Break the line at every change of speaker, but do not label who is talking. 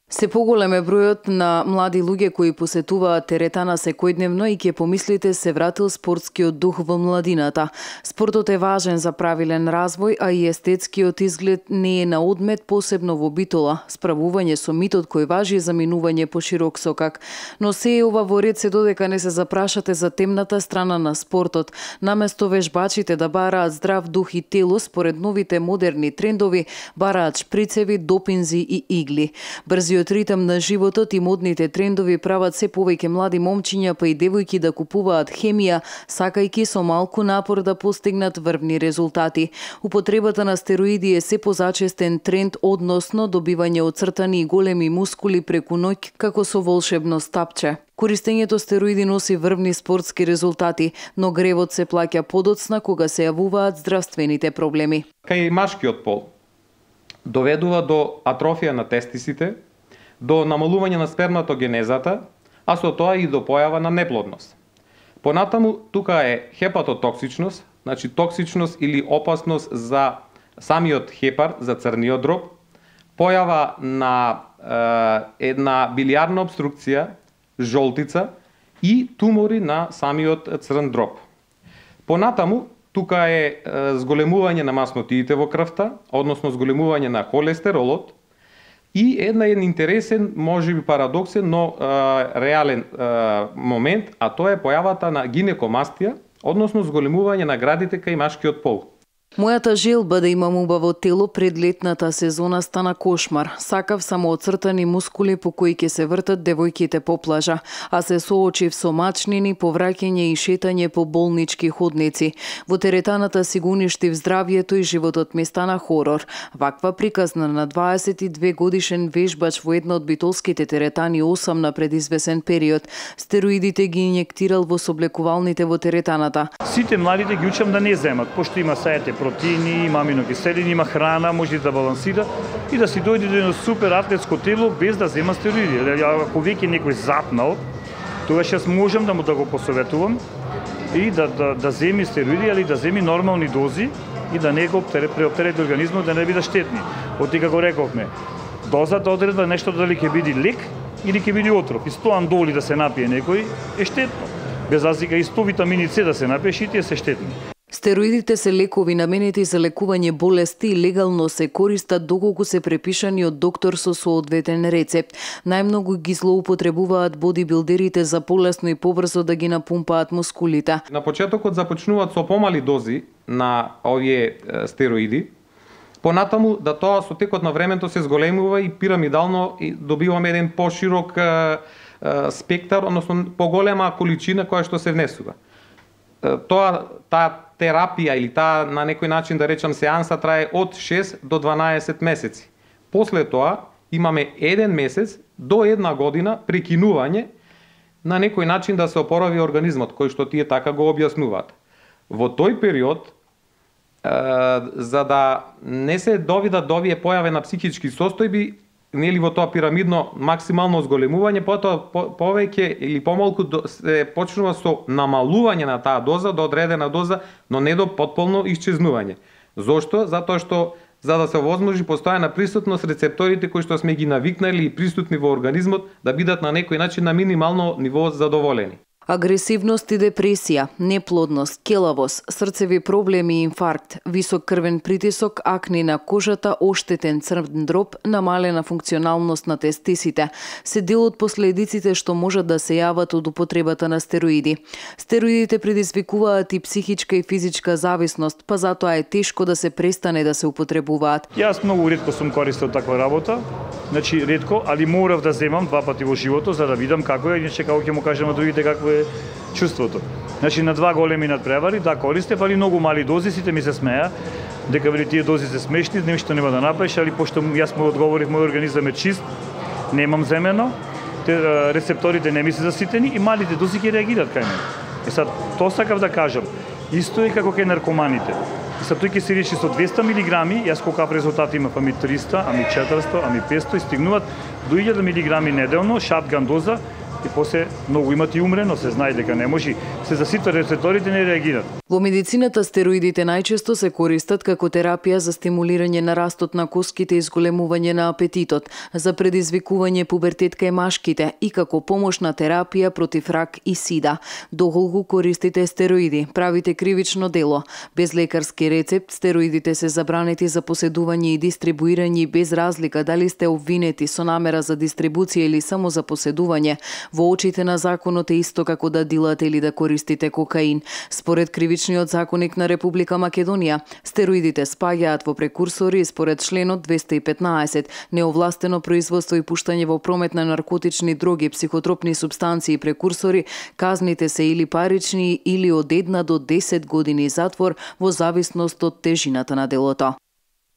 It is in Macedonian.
Се поголем е бројот на млади луѓе кои посетуваат теретана секојдневно и ќе помислите се вратил спортскиот дух во младината. Спортот е важен за правилен развој, а и естетскиот изглед не е на одмет, посебно во Битола, справување со митот кој важи за минување по широк сокак. Но се е ова во ред се додека не се запрашате за темната страна на спортот. Наместо вежбачите да бараат здрав дух и тело, според новите модерни трендови, бараат шприцеви, допинзи и игли. Брзиот ритм на животот и модните трендови прават се повеќе млади момчиња па и девојки да купуваат хемија, сакајќи со малку напор да постигнат врвни резултати. Употребата на стероиди е се позачестен тренд, односно добивање оцртани и големи мускули преку ноќ како со волшебно стапче. Користењето стероиди носи врвни спортски резултати, но гревот се плаќа подоцна кога се јавуваат здравствените проблеми.
Кај машкиот пол доведува до атрофија на тестисите, до намалување на сперматогенезата, а со тоа и до појава на неплодност. Понатаму, тука е хепатотоксичност, значи токсичност или опасност за самиот хепар, за црниот дроб, појава на една билиарна обструкција, жолтица и тумори на самиот црн дроб. Понатаму, тука е зголемување на маснотиите во крвта, односно зголемување на холестеролот, и еден интересен, можеби парадоксен, но реален момент, а тоа е појавата на гинекомастија, односно зголемување на градите кај машкиот пол.
Мојата желба да имам убаво тело пред летната сезона стана кошмар. Сакав само оцртани мускули по кои ќе се вртат девојките по плажа, а се соочив со мачнини, повраќање и шетање по болнички ходници. Во теретаната си го уништив здравјето и животот ми стана хорор. Ваква приказна на 22 годишен вежбач во една од битолските теретани осамна пред извесен период. Стероидите ги инјектирал во соблекувалните во теретаната.
Сите младите ги учам да не земат, пошто има саете протеини, има аминокиселини, има храна, може да балансира и да си дојде до едно супер атлетско тело без да зема стероиди. Ако веќе некој запнал, тогаш јас можам да му да го посоветувам и да земи стероиди, али да земи нормални дози и да не го преоптерети организмот, да не биде штетни. Оти како рековме, дозата одредба нешто дали ќе биде лек или ќе биде отров. И 100 андоли да се напие некој е штетно. Без разлика и 100 витамини С да се напие, и тие се штетни.
Стероидите се лекови наменети за лекување болести и легално се користат доколку се препишани од доктор со соодветен рецепт. Најмногу ги злоупотребуваат бодибилдерите за полесно и побрзо да ги напумпаат мускулите.
На почетокот започнуваат со помали дози на овие стероиди, понатаму да тоа со текот на времето се зголемува и пирамидално и добиваме еден поширок спектар, односно поголема количина која што се внесува. Таа терапија или таа на некој начин да речам сеанса трае од 6 до 12 месеци. После тоа имаме 1 месец до 1 година прекинување на некој начин да се опорави организмот, кој што тие така го објаснуваат. Во тој период, за да не се довидат до овие појави на психички состојби, нели во тоа пирамидно максимално зголемување, потоа повеќе или помалку се почнува со намалување на таа доза до одредена доза, но не до потполно исчезнување. Зошто? Затоа што за да се овозможи постојана присутност рецепторите кои што сме ги навикнали и присутни во организмот да бидат на некој начин на минимално ниво задоволени.
Агресивност и депресија, неплодност, келавост, срцеви проблеми и инфаркт, висок крвен притисок, акни на кожата, оштетен црн дроб, намалена функционалност на тестисите, се дел од последиците што можат да се јават од употребата на стероиди. Стероидите предизвикуваат и психичка и физичка зависност, па затоа е тешко да се престане да се употребуваат.
Јас многу ретко сум користел таква работа, значи ретко, али морав да земам 2 пати во животот за да видам како е, иначе како ќе му кажам на другите како е чувството. Значи на 2 големи надпревари, да користев, али многу мали дози, сите ми се смеа, дека вели тие дози се смешни, нешто нема да направиш, али пошто јас му одговорив, мој организам е чист, немам земено, рецепторите не ми се заситени и малите дози ќе реагираат кај мене. И сад, тоа сакав да кажам, исто е како кај наркоманите. И сад тој ќе се речи со 200 милиграми, јас колкав резултати имав, ами 300, ами 400, ами 500 и стигнуваат до 1000 милиграми неделно, шатган доза, и после многу имат и умрено, се знае дека не може. се заситва рецепторите, не реагираат.
Во медицината стероидите најчесто се користат како терапија за стимулирање на растот на коските и зголемување на апетитот, за предизвикување пубертет кај машките и како помошна терапија против рак и сида. Доколку користите стероиди, правите кривично дело. Без лекарски рецепт, стероидите се забранети за поседување и дистрибуирање без разлика дали сте обвинети со намера за дистрибуција или само за поседување. Во очите на законот е исто како да дилате или да користите кокаин. Според Кривичниот законник на Република Македонија, стероидите спаѓаат во прекурсори и според членот 215, неовластено производство и пуштање во промет на наркотични дроги, психотропни супстанции и прекурсори, казните се или парични или од 1 до 10 години затвор во зависност од тежината на делото.